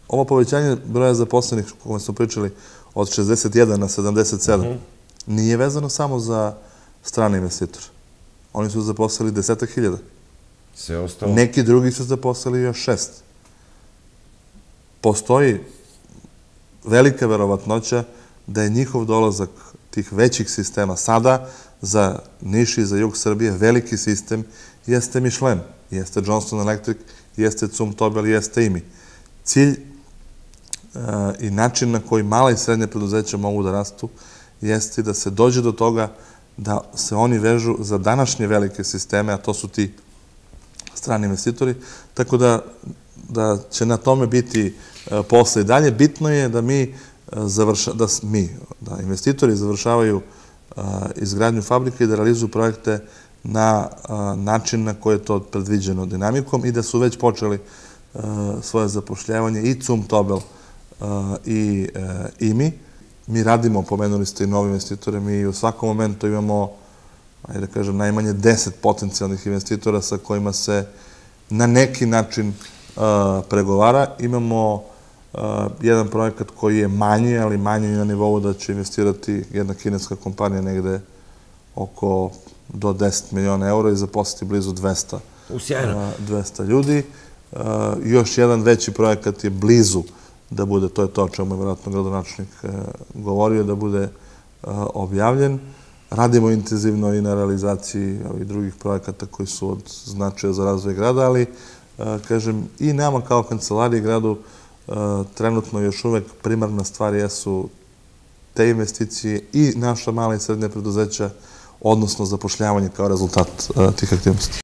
ovo povećanje broja zaposlenih, o kome smo pričali, od 61 na 77, nije vezano samo za strane investitore. Oni su zaposlili 10.000. Sve ostalo? Neki drugi su zaposlili još 6. Postoji velika verovatnoća da je njihov dolazak tih većih sistema sada za Niš i za jug Srbije veliki sistem jeste Michelin, jeste Johnson Electric, jeste Zum Tobel, jeste IMI. Cilj i način na koji mala i srednje preduzeća mogu da rastu jeste da se dođe do toga da se oni vežu za današnje velike sisteme, a to su ti strani investitori, tako da će na tome biti posle i dalje. Bitno je da da investitori završavaju izgradnju fabrike i da realizuju projekte na način na koji je to predviđeno dinamikom i da su već počeli svoje zapošljavanje i Zum Tobel i IMI. Mi radimo, pomenuli ste i nove investitore, mi u svakom momentu imamo, ajde da kažem, najmanje 10 potencijalnih investitora sa kojima se na neki način pregovara. Imamo jedan projekat koji je manji, ali manji na nivou da će investirati jedna kineska kompanija negde oko do 10 miliona eura i zaposliti blizu 200 ljudi. Još jedan veći projekat je blizu da bude, to je to o čemu je vjerojatno gradonačelnik govorio, da bude objavljen. Radimo intenzivno i na realizaciji ovih drugih projekata koji su od značaja za razvoj grada, ali, kažem, i nama kao kancelariji gradu trenutno još uvek primarna stvar jesu te investicije i naša mala i srednja preduzeća, odnosno zapošljavanje kao rezultat tih aktivnosti.